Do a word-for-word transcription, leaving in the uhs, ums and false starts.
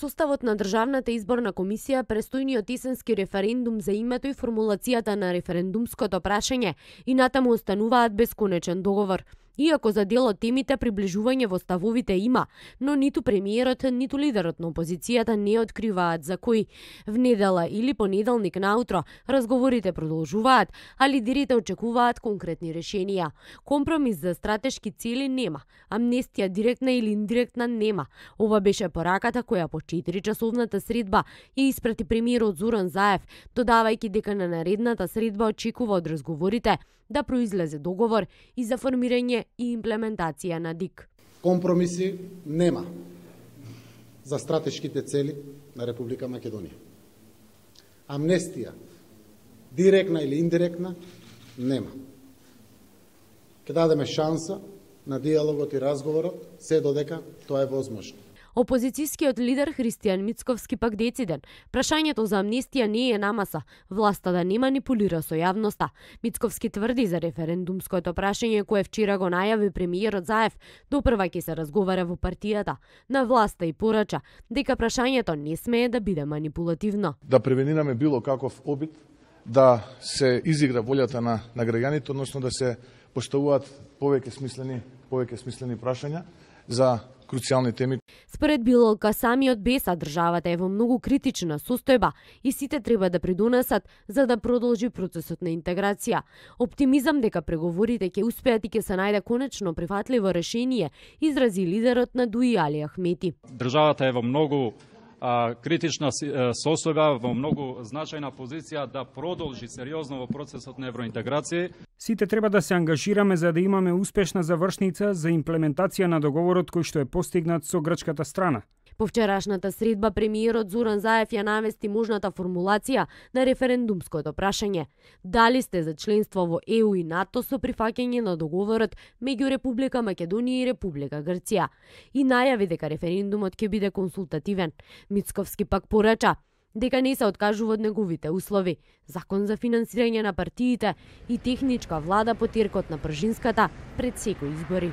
составот на Државната изборна комисија престојниот есенски референдум за името и формулацијата на референдумското прашање и натаму остануваат без конечен договор. Иако за дел од темите приближување во ставовите има, но ниту премиерот, ниту лидерот на опозицијата не откриваат за кој. В недела или понеделник наутро разговорите продолжуваат, а лидерите очекуваат конкретни решенија. Компромис за стратешки цели нема, амнестија директна или индиректна нема. Ова беше пораката која по четиричасовната средба ја испрати премиерот Зоран Заев, додавајќи дека на наредната средба очекува од разговорите да произлезе договор и за формирање и имплементација на ДИК. Компромиси нема за стратешките цели на Република Македонија. Амнестија, директна или индиректна, нема. Ке дадеме шанса на диалогот и разговорот, се додека тоа е возможно. Опозицијскиот лидер Христијан Мицковски пак дециден. Прашањето за амнестија не е намаса, власта да не манипулира со јавноста. Мицковски тврди за референдумското прашање кое вчера го најави премиерот Заев, допрва ќе се разговара во партијата. На власта и порача дека прашањето не смее да биде манипулативно. Да превенираме било каков обид да се изигра волјата на, на граѓаните, односно да се поставуваат повеќе смислени, повеќе смислени прашања за круцијални теми. Според Билолка, самиот Беса државата е во многу критична состојба и сите треба да придонесат за да продолжи процесот на интеграција. Оптимизам дека преговорите ќе успеат и ќе се најде конечно прифатливо решение, изрази лидерот на ДУИ Али Ахмети. Државата е во многу а, критична состојба, во многу значајна позиција да продолжи сериозно во процесот на евроинтеграција. Сите треба да се ангажираме за да имаме успешна завршница за имплементација на договорот кој што е постигнат со грчката страна. По вчерашната средба премиерот Зоран Заев ја навести можната формулација на референдумското прашање. Дали сте за членство во Е У и НАТО со прифаќање на договорот меѓу Република Македонија и Република Грција и најави дека референдумот ќе биде консултативен. Мицковски пак порача дека не се откажува од неговите услови, закон за финансирање на партиите и техничка влада по теркот на пржинската пред секои избори.